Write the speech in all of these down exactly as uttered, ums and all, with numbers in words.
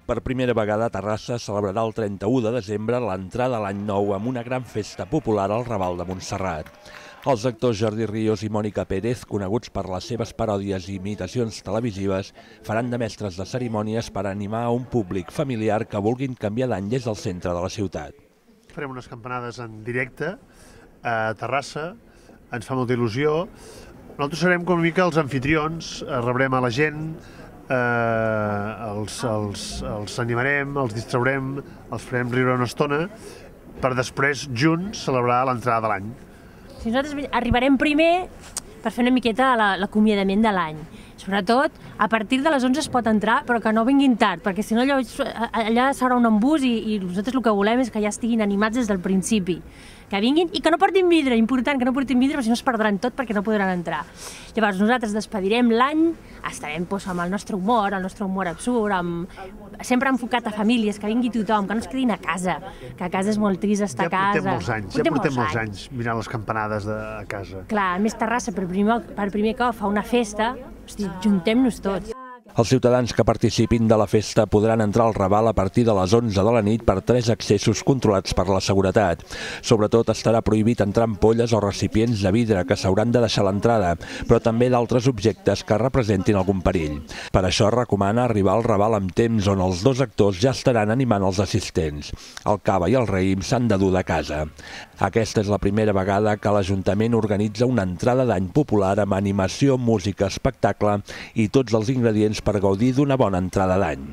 Per primera vegada, Terrassa celebrarà el trenta-u de desembre l'entrada a l'any nou amb una gran festa popular al Raval de Montserrat. Els actors Jordi Ríos i Mònica Pérez, coneguts per les seves paròdies i imitacions televisives, faran de mestres de cerimònies per animar a un públic familiar que vulguin canviar d'any des del centre de la ciutat. Farem unes campanades en directe a Terrassa, ens fa molta il·lusió. Nosaltres serem com una mica els anfitrions, rebrem a la gent, eh, els, els, els animarem, els distraurem, els farem riure una estona per després junts celebrar l'entrada de l'any. Si nosaltres arribarem primer per fer una miqueta l'acomiadament de l'any. Sobretot, a partir de les onze es pot entrar, però que no vinguin tard, perquè si no allà, allà s'haurà un embús i, i nosaltres el que volem és que ja estiguin animats des del principi. Que vinguin i que no portin vidre, important que no portin vidre, perquè si no es perdran tot perquè no podran entrar. Llavors nosaltres despedirem l'any, estarem doncs, amb el nostre humor, el nostre humor absurd, amb... sempre enfocat a famílies, que vingui tothom, que no es quedin a casa, que a casa és molt trist estar a casa. Ja portem molts anys, ja portem molts anys mirant les campanades de casa. Clar, a més Terrassa per primer, per primer cop fa una festa, hosti, juntem-nos tots. Els ciutadans que participin de la festa podran entrar al Raval a partir de les onze de la nit per tres accessos controlats per la seguretat. Sobretot estarà prohibit entrar ampolles o recipients de vidre que s'hauran de deixar a l'entrada, però també d'altres objectes que representin algun perill. Per això recomana arribar al Raval amb temps, on els dos actors ja estaran animant els assistents. El cava i el raïm s'han de dur de casa. Aquesta és la primera vegada que l'Ajuntament organitza una entrada d'any popular amb animació, música, espectacle i tots els ingredients per gaudir d'una bona entrada d'any.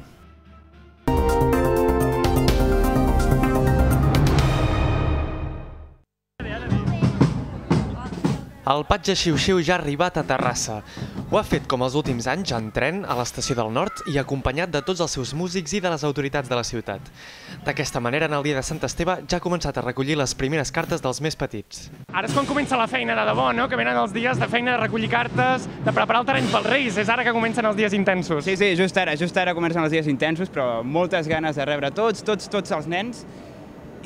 El Patge Xiu-Xiu ja ha arribat a Terrassa. Ho ha fet, com els últims anys, en tren a l'estació del Nord i acompanyat de tots els seus músics i de les autoritats de la ciutat. D'aquesta manera, en el dia de Sant Esteve ja ha començat a recollir les primeres cartes dels més petits. Ara és quan comença la feina de debò, no? Que venen els dies de feina de recollir cartes, de preparar el terreny pels Reis. És ara que comencen els dies intensos. Sí, sí, just ara, just ara comencen els dies intensos, però moltes ganes de rebre tots, tots, tots els nens.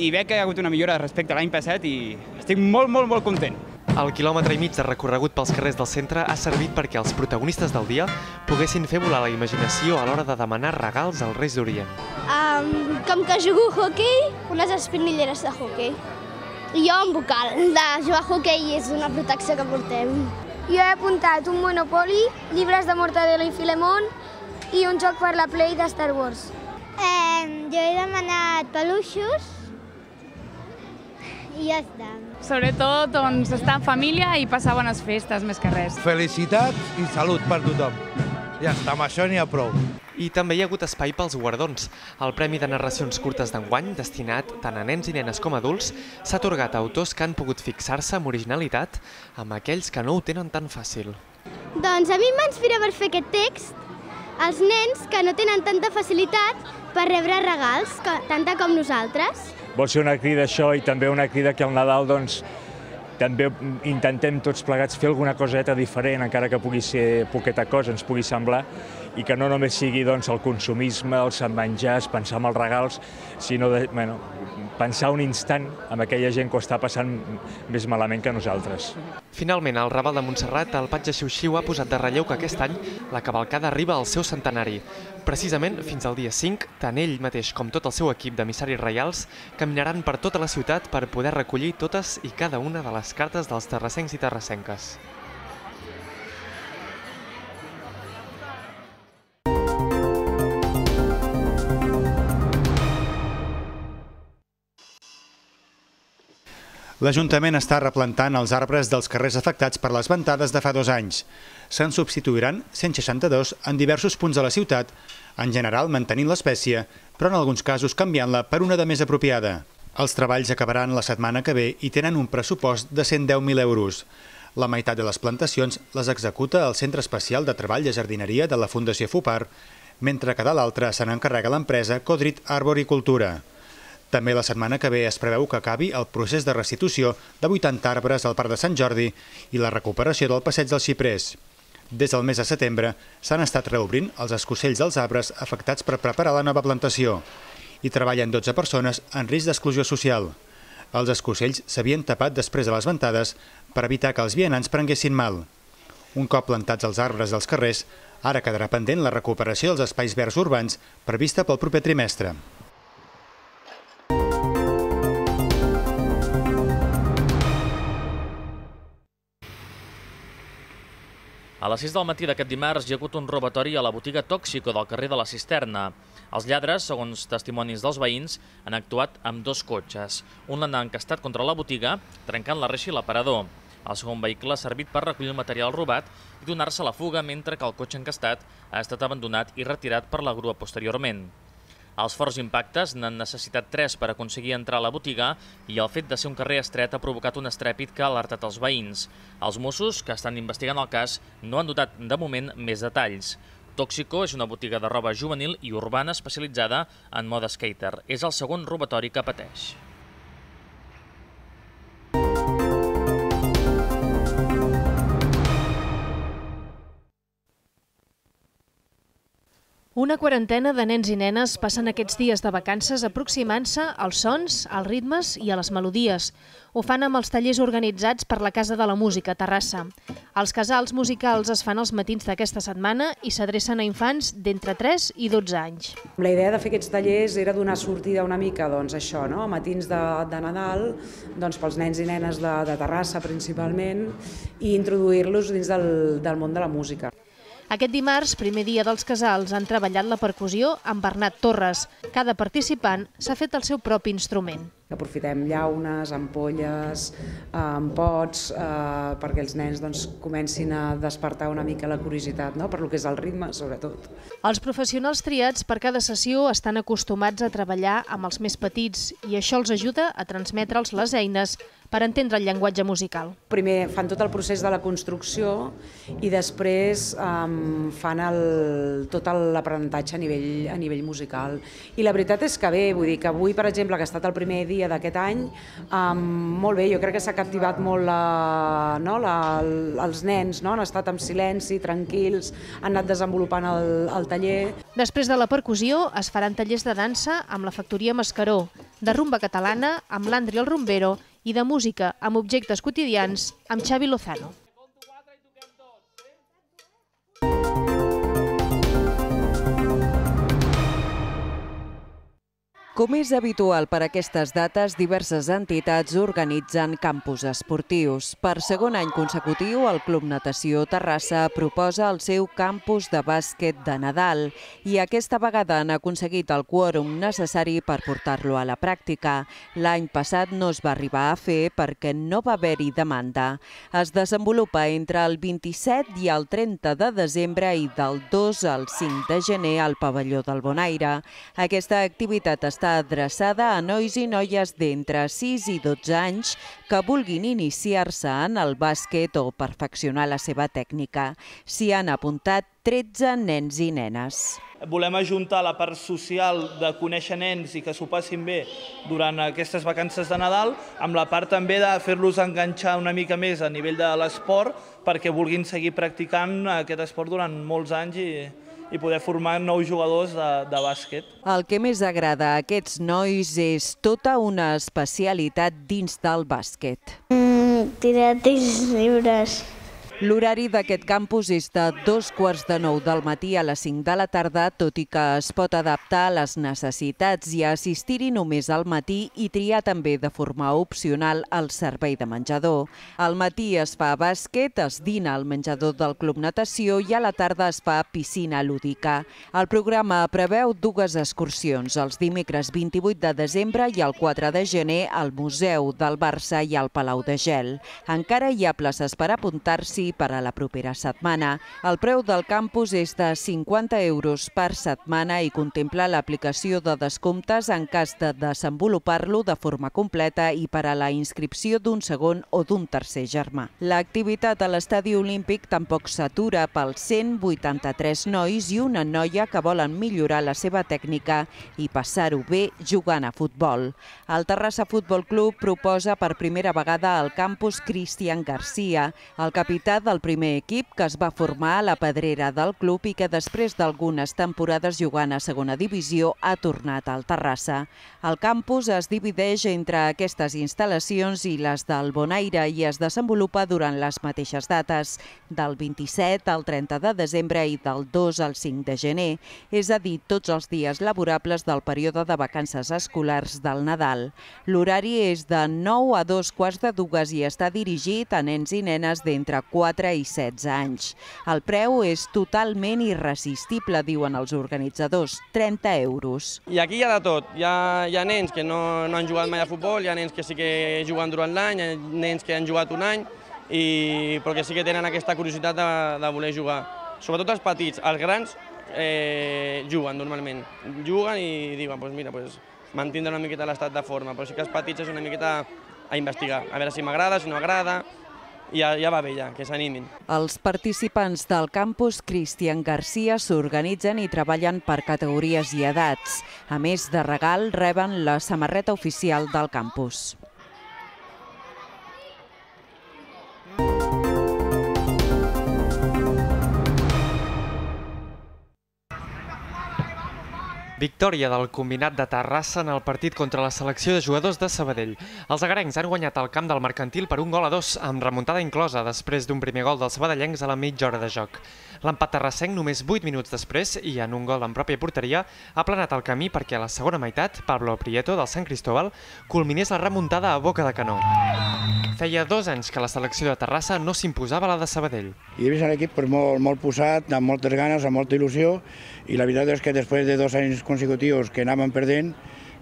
I veig que hi ha hagut una millora respecte a l'any passat i estic molt, molt, molt content. El quilòmetre i mig de recorregut pels carrers del centre ha servit perquè els protagonistes del dia poguessin fer volar la imaginació a l'hora de demanar regals als Reis d'Orient. Um, com que jugo a hoquei, unes espinilleres de hoquei. I jo un bocal. De jugar a hoquei és una protecció que portem. Jo he apuntat un Monopoly, llibres de Mortadelo i Filemón i un joc per la Play de Star Wars. Eh, jo he demanat peluixos i ja està. Sobretot doncs, estar en família i passar bones festes, més que res. Felicitat i salut per tothom. Ja està, amb això n'hi ha prou. I també hi ha hagut espai pels guardons. El Premi de Narracions Curtes d'enguany, destinat tant a nens i nenes com a adults, s'ha atorgat a autors que han pogut fixar-se amb originalitat amb aquells que no ho tenen tan fàcil. Doncs a mi m'inspira per fer aquest text els nens que no tenen tanta facilitat per rebre regals, tanta com nosaltres. Vol ser una crida això i també una crida que al Nadal doncs, també intentem tots plegats fer alguna coseta diferent, encara que pugui ser poqueta cosa, ens pugui semblar, i que no només sigui doncs, el consumisme, els menjars, pensar en els regals, sinó de, bueno, pensar un instant amb aquella gent que ho està passant més malament que nosaltres. Finalment, al Raval de Montserrat, el Patge Xiu-Xiu ha posat de relleu que aquest any la cavalcada arriba al seu centenari. Precisament, fins al dia cinc, tant ell mateix com tot el seu equip d'emissaris reials caminaran per tota la ciutat per poder recollir totes i cada una de les cartes dels terrassencs i terrassenques. L'Ajuntament està replantant els arbres dels carrers afectats per les ventades de fa dos anys. Se'n substituiran cent seixanta-dos en diversos punts de la ciutat, en general mantenint l'espècie, però en alguns casos canviant-la per una de més apropiada. Els treballs acabaran la setmana que ve i tenen un pressupost de cent deu mil euros. La meitat de les plantacions les executa el Centre Especial de Treball de Jardineria de la Fundació FUPAR, mentre que de l'altra se n'encarrega l'empresa Codrit Arboricultura. També la setmana que ve es preveu que acabi el procés de restitució de vuitanta arbres al Parc de Sant Jordi i la recuperació del passeig dels xiprers. Des del mes de setembre s'han estat reobrint els escocells dels arbres afectats per preparar la nova plantació i treballen dotze persones en risc d'exclusió social. Els escocells s'havien tapat després de les ventades per evitar que els vianants prenguessin mal. Un cop plantats els arbres dels carrers, Ara quedarà pendent la recuperació dels espais verds urbans prevista pel proper trimestre. A les sis del matí d'aquest dimarts hi ha hagut un robatori a la botiga Tóxico del carrer de la Cisterna. Els lladres, segons testimonis dels veïns, han actuat amb dos cotxes. Un l'han encastat contra la botiga, trencant la reixa i l'aparador. El segon vehicle ha servit per recollir el material robat i donar-se a la fuga, mentre que el cotxe encastat ha estat abandonat i retirat per la grua posteriorment. Els forts impactes n'han necessitat tres per aconseguir entrar a la botiga i el fet de ser un carrer estret ha provocat un estrèpit que ha alertat els veïns. Els Mossos, que estan investigant el cas, no han dotat de moment més detalls. Tóxico és una botiga de roba juvenil i urbana especialitzada en moda skater. És el segon robatori que pateix. Una quarantena de nens i nenes passen aquests dies de vacances aproximant-se als sons, als ritmes i a les melodies. Ho fan amb els tallers organitzats per la Casa de la Música, a Terrassa. Els casals musicals es fan els matins d'aquesta setmana i s'adrecen a infants d'entre tres i dotze anys. La idea de fer aquests tallers era donar sortida una mica, doncs això, no? A matins de, de Nadal, doncs pels nens i nenes de, de Terrassa principalment, i introduir-los dins del, del món de la música. Aquest dimarts, primer dia dels casals, han treballat la percussió amb Bernat Torres. Cada participant s'ha fet el seu propi instrument. Aprofitem llaunes, ampolles, pots, eh, perquè els nens doncs, comencin a despertar una mica la curiositat, no? Per lo que és el ritme, sobretot. Els professionals triats per cada sessió estan acostumats a treballar amb els més petits i això els ajuda a transmetre'ls les eines per entendre el llenguatge musical. Primer fan tot el procés de la construcció i després um, fan el, tot l'aprenentatge a nivell, a nivell musical. I la veritat és que bé, vull dir que avui, per exemple, que ha estat el primer dia d'aquest any, um, molt bé, jo crec que s'ha captivat molt la, no, la, els nens, no? Han estat en silenci, tranquils, han anat desenvolupant el, el taller. Després de la percussió es faran tallers de dansa amb la Factoria Mascaró, de rumba catalana amb l'Andri el Rumbero i de música amb objectes quotidians amb Xavi Lozano. Com és habitual per aquestes dates, diverses entitats organitzen campus esportius. Per segon any consecutiu, el Club Natació Terrassa proposa el seu campus de bàsquet de Nadal i aquesta vegada han aconseguit el quòrum necessari per portar-lo a la pràctica. L'any passat no es va arribar a fer perquè no va haver-hi demanda. Es desenvolupa entre el vint-i-set i el trenta de desembre i del dos al cinc de gener al pavelló del Bonaire. Aquesta activitat està adreçada a nois i noies d'entre sis i dotze anys que vulguin iniciar-se en el bàsquet o perfeccionar la seva tècnica. S'hi han apuntat tretze nens i nenes. Volem ajuntar la part social de conèixer nens i que s'ho passin bé durant aquestes vacances de Nadal amb la part també de fer-los enganxar una mica més a nivell de l'esport perquè vulguin seguir practicant aquest esport durant molts anys i i poder formar nous jugadors de, de bàsquet. El que més agrada a aquests nois és tota una especialitat dins del bàsquet. Mm, tirar tirs lliures. L'horari d'aquest campus és de dos quarts de nou del matí a les cinc de la tarda, tot i que es pot adaptar a les necessitats i assistir-hi només al matí i triar també de forma opcional el servei de menjador. Al matí es fa bàsquet, es dina al menjador del Club Natació i a la tarda es fa piscina lúdica. El programa preveu dues excursions, els dimecres vint-i-vuit de desembre i el quatre de gener al Museu del Barça i al Palau de Gel. Encara hi ha places per apuntar-s'hi per a la propera setmana. El preu del campus és de cinquanta euros per setmana i contempla l'aplicació de descomptes en cas de desenvolupar-lo de forma completa i per a la inscripció d'un segon o d'un tercer germà. L'activitat a l'Estadi Olímpic tampoc s'atura pels cent vuitanta-tres nois i una noia que volen millorar la seva tècnica i passar-ho bé jugant a futbol. El Terrassa Futbol Club proposa per primera vegada al campus Cristian Garcia. El capità jugadora del primer equip que es va formar a la pedrera del club i que després d'algunes temporades jugant a segona divisió ha tornat al Terrassa. El campus es divideix entre aquestes instal·lacions i les del Bonaire i es desenvolupa durant les mateixes dates, del vint-i-set al trenta de desembre i del dos al cinc de gener, és a dir, tots els dies laborables del període de vacances escolars del Nadal. L'horari és de nou a dos quarts de dues i està dirigit a nens i nenes d'entre quatre i setze anys. El preu és totalment irresistible, diuen els organitzadors, trenta euros. I aquí hi ha de tot. Hi ha, hi ha nens que no, no han jugat mai a futbol, hi ha nens que sí que juguen durant l'any, hi ha nens que han jugat un any, i, però que sí que tenen aquesta curiositat de, de voler jugar. Sobretot els petits, els grans eh, juguen normalment. Juguen i diuen, pues mira, pues, mantindre una miqueta l'estat de forma, però sí que els petits és una miqueta a investigar, a veure si m'agrada, si no agrada, i ja, ja va bé, ja, que s'animin. Els participants del campus Cristian Garcia s'organitzen i treballen per categories i edats. A més de regal, reben la samarreta oficial del campus. Victòria del combinat de Terrassa en el partit contra la selecció de jugadors de Sabadell. Els agarencs han guanyat el camp del Mercantil per un gol a dos, amb remuntada inclosa després d'un primer gol dels sabadellencs a la mitja hora de joc. L'empat terrassenc, només vuit minuts després, i en un gol en pròpia porteria, ha planat el camí perquè a la segona meitat, Pablo Prieto, del Sant Cristóbal, culminés la remuntada a boca de canó. Feia dos anys que la selecció de Terrassa no s'imposava a la de Sabadell. I he vist l'equip molt, molt posat, amb moltes ganes, amb molta il·lusió, i la veritat és que després de dos anys consecutius que anàvem perdent,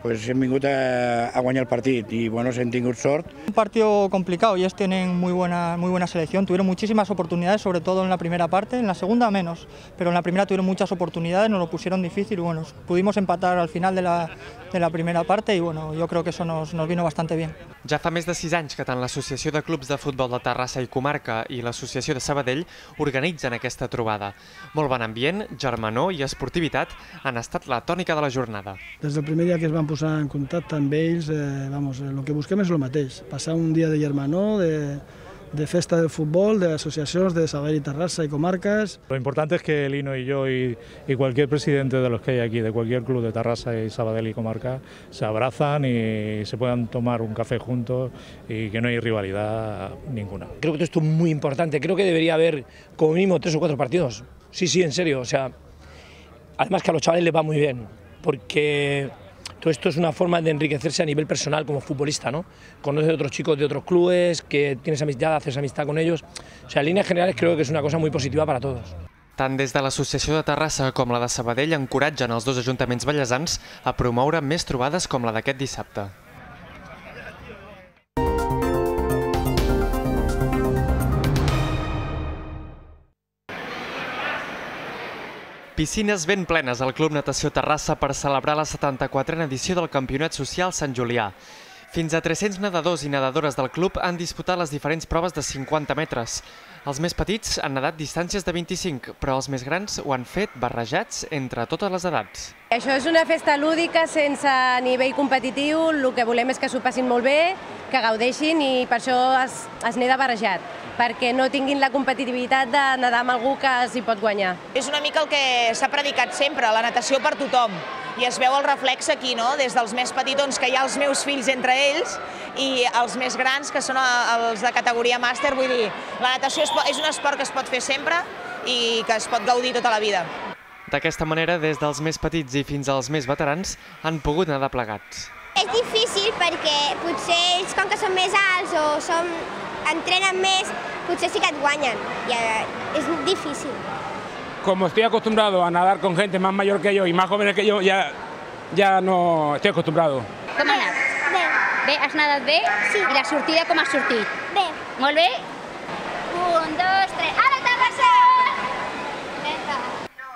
pues hem vingut a, a guanyar el partit y bueno, se han tingut sort. Un partido complicado, ellos tienen muy buena, muy buena selección, tuvieron muchísimas oportunidades, sobre todo en la primera parte, en la segunda menos, pero en la primera tuvieron muchas oportunidades, nos lo pusieron difícil y bueno, pudimos empatar al final de la, de la primera parte y bueno, yo creo que eso nos, nos vino bastante bien. Ja fa més de sis anys que tant l'Associació de Clubs de Futbol de Terrassa i Comarca i l'Associació de Sabadell organitzen aquesta trobada. Molt bon ambient, germanor i esportivitat han estat la tònica de la jornada. Des del primer dia que es van posar en contacte amb ells, eh, vamos, el que busquem és el mateix, passar un dia de germanor, de, de festa del futbol, de asociaciones de Sabadell y Terrassa y comarcas. Lo importante es que Lino y yo y, y cualquier presidente de los que hay aquí, de cualquier club de Terrassa y Sabadell y comarca, se abrazan y se puedan tomar un café juntos y que no hay rivalidad ninguna. Creo que esto es muy importante, creo que debería haber como mínimo tres o cuatro partidos. Sí, sí, en serio, o sea, además que a los chavales les va muy bien, porque todo esto es una forma de enriquecerse a nivel personal como futbolista, ¿no? Conoces a otros chicos de otros clubes, que tienes amistad, haces amistad con ellos. O sea, en líneas generales creo que es una cosa muy positiva para todos. Tant des de l'Associació de Terrassa com la de Sabadell encoratgen els dos ajuntaments ballesans a promoure més trobades com la d'aquest dissabte. Piscines ben plenes al Club Natació Terrassa per celebrar la setanta-quatrena edició del Campionat Social Sant Julià. Fins a tres-cents nedadors i nedadores del club han disputat les diferents proves de cinquanta metres. Els més petits han nedat distàncies de vint-i-cinc, però els més grans ho han fet barrejats entre totes les edats. Això és una festa lúdica sense nivell competitiu, el que volem és que s'ho passin molt bé, que gaudeixin i per això es, es neda barrejat, perquè no tinguin la competitivitat de nedar amb algú que s'hi pot guanyar. És una mica el que s'ha predicat sempre, la natació per tothom. I es veu el reflex aquí, no? Des dels més petitons, que hi ha els meus fills entre ells, i els més grans, que són els de categoria màster. Vull dir, la natació és un esport que es pot fer sempre i que es pot gaudir tota la vida. D'aquesta manera, des dels més petits i fins als més veterans, han pogut nedar plegats. És difícil perquè potser ells, com que són més alts o som, entrenen més, potser sí que et guanyen. I és difícil. Como estoy acostumbrado a nadar con gente más mayor que yo y más jóvenes que yo, ya, ya no estoy acostumbrado. Com has anat? Bé. Bé, has nadat bé? Sí. I la sortida com has sortit? Bé. Molt bé? Un, dos, tres, a la Terrassa!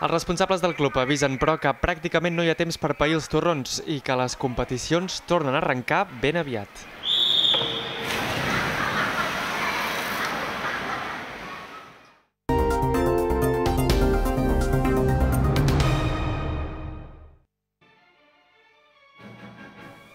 Els responsables del club avisen, però, que pràcticament no hi ha temps per pair els torrons i que les competicions tornen a arrencar ben aviat.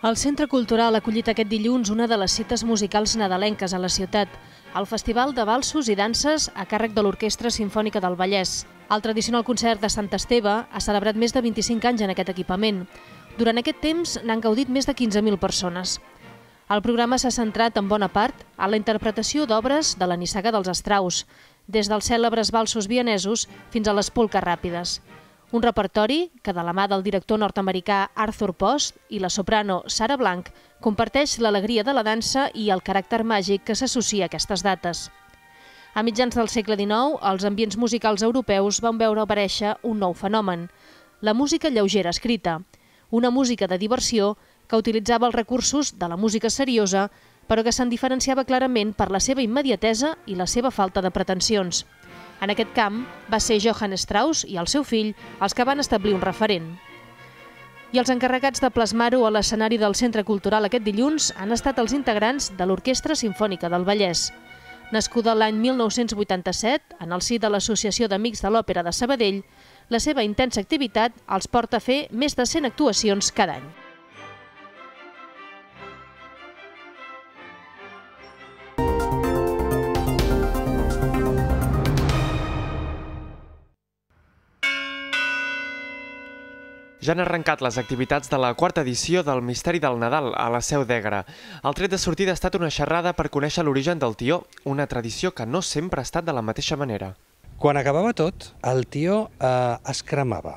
El Centre Cultural ha acollit aquest dilluns una de les cites musicals nadalenques a la ciutat. el Festival de Valsos i Danses a càrrec de l'Orquestra Simfònica del Vallès. El tradicional concert de Sant Esteve ha celebrat més de vint-i-cinc anys en aquest equipament. Durant aquest temps n'han gaudit més de quinze mil persones. El programa s'ha centrat en bona part en la interpretació d'obres de la nissaga dels Strauss, des dels cèlebres valsos vienesos fins a les polques ràpides. Un repertori que, de la mà del director nord-americà Arthur Post i la soprano Sarah Blanc, comparteix l'alegria de la dansa i el caràcter màgic que s'associa a aquestes dates. A mitjans del segle dinou, els ambients musicals europeus van veure aparèixer un nou fenomen, la música lleugera escrita, una música de diversió que utilitzava els recursos de la música seriosa, però que se'n diferenciava clarament per la seva immediatesa i la seva falta de pretensions. En aquest camp va ser Johann Strauss i el seu fill els que van establir un referent. I els encarregats de plasmar-ho a l'escenari del Centre Cultural aquest dilluns han estat els integrants de l'Orquestra Simfònica del Vallès. Nascuda l'any mil nou-cents vuitanta-set, en el si de l'Associació d'Amics de l'Òpera de Sabadell, la seva intensa activitat els porta a fer més de cent actuacions cada any. Ja han arrencat les activitats de la quarta edició del Misteri del Nadal a la Seu d'Egra. El tret de sortida ha estat una xerrada per conèixer l'origen del tió, una tradició que no sempre ha estat de la mateixa manera. Quan acabava tot, el tió eh, es cremava,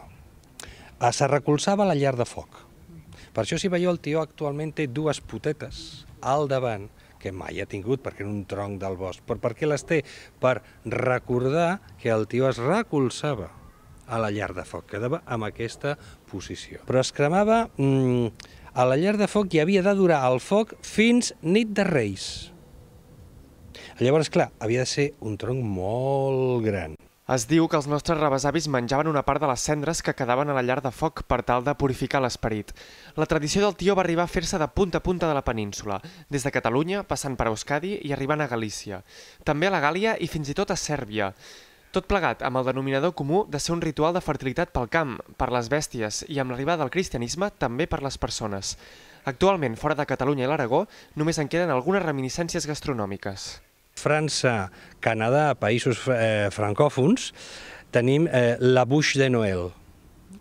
eh, se recolzava a la llar de foc. Per això, si veieu, el tió actualment té dues potetes al davant, que mai ha tingut perquè era un tronc del bosc. Però per què les té? Per recordar que el tió es recolzava a la llar de foc, quedava en aquesta posició. Però es cremava mmm, a la llar de foc i havia de durar el foc fins nit de Reis. Llavors, clar, havia de ser un tronc molt gran. Es diu que els nostres rebesavis menjaven una part de les cendres que quedaven a la llar de foc per tal de purificar l'esperit. La tradició del tió va arribar a fer-se de punta a punta de la península, des de Catalunya, passant per Euskadi i arribant a Galícia. També a la Gàlia i fins i tot a Sèrbia. Tot plegat amb el denominador comú de ser un ritual de fertilitat pel camp, per les bèsties i amb l'arribada del cristianisme també per les persones. Actualment, fora de Catalunya i l'Aragó, només en queden algunes reminiscències gastronòmiques. França, Canadà, països eh, francòfons, tenim eh, la bûche de Noël,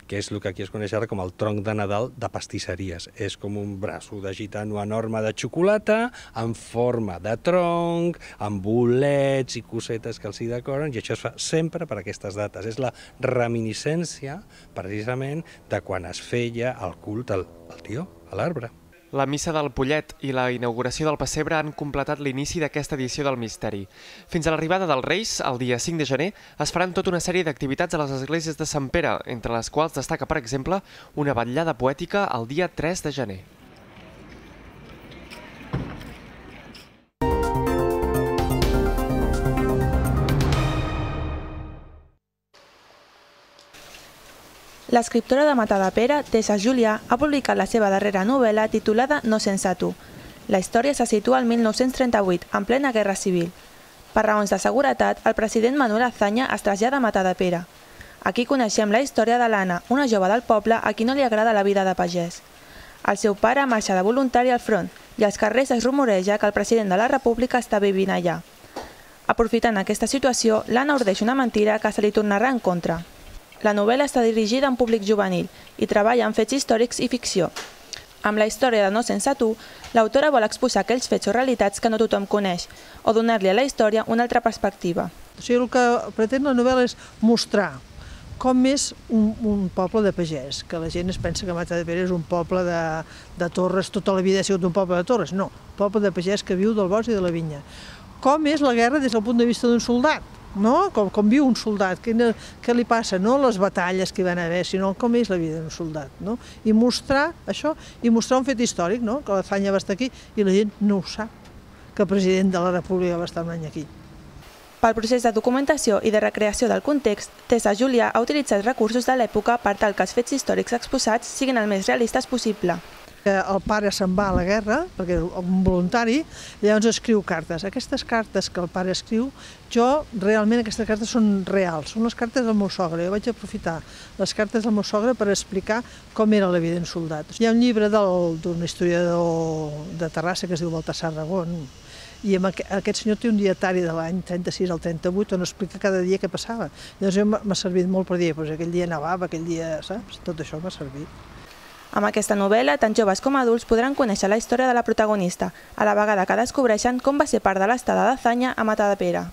que és el que aquí es coneix ara com el tronc de Nadal de pastisseries. És com un braço de gitano enorme de xocolata, en forma de tronc, amb bolets i cosetes que els hi decoren, i això es fa sempre per aquestes dates. És la reminiscència, precisament, de quan es feia el culte al, al tió, a l'arbre. La missa del Pollet i la inauguració del pessebre han completat l'inici d'aquesta edició del Misteri. Fins a l'arribada dels Reis, el dia cinc de gener, es faran tota una sèrie d'activitats a les esglésies de Sant Pere, entre les quals destaca, per exemple, una vetllada poètica el dia tres de gener. L'escriptora de Matadepera, Tessa Julià, ha publicat la seva darrera novel·la titulada No sense tu. La història se situa al mil nou-cents trenta-vuit, en plena Guerra Civil. Per raons de seguretat, el president Manuel Azaña es trasllada a Matadepera. Aquí coneixem la història de l'Anna, una jove del poble a qui no li agrada la vida de pagès. El seu pare marxa de voluntari al front i als carrers es rumoreja que el president de la República està vivint allà. Aprofitant aquesta situació, l'Anna ordeix una mentira que se li tornarà en contra. La novel·la està dirigida a un públic juvenil i treballa en fets històrics i ficció. Amb la història de No sense tu, l'autora vol exposar aquells fets o realitats que no tothom coneix o donar-li a la història una altra perspectiva. O sigui, el que pretén la novel·la és mostrar com és un, un poble de pagès, que la gent es pensa que Matadepera és un poble de, de torres, tota la vida ha sigut un poble de torres. No, un poble de pagès que viu del bosc i de la vinya. Com és la guerra des del punt de vista d'un soldat? No? Com, com viu un soldat, què, què li passa, no les batalles que hi van haver, sinó com és la vida d'un soldat. No? I mostrar això, i mostrar un fet històric, no? Que l'Azaña va estar aquí i la gent no ho sap, que el president de la República va estar un any aquí. Pel procés de documentació i de recreació del context, Tessa Julià ha utilitzat recursos de l'època per tal que els fets històrics exposats siguin el més realistes possible. El pare se'n va a la guerra, perquè és un voluntari, llavors escriu cartes. Aquestes cartes que el pare escriu, jo realment aquestes cartes són reals, són les cartes del meu sogre. Jo vaig aprofitar les cartes del meu sogre per explicar com era la vida d'un soldat. Hi ha un llibre d'un historiador de Terrassa que es diu Baltasar Ragón, i aquest senyor té un dietari de l'any trenta-sis al trenta-vuit on explica cada dia què passava. Llavors m'ha servit molt per dir, aquell dia nevava, aquell dia, saps? Tot això m'ha servit. Amb aquesta novel·la, tant joves com adults podran conèixer la història de la protagonista, a la vegada que descobreixen com va ser part de l'estada d'Azanya a Matadepera.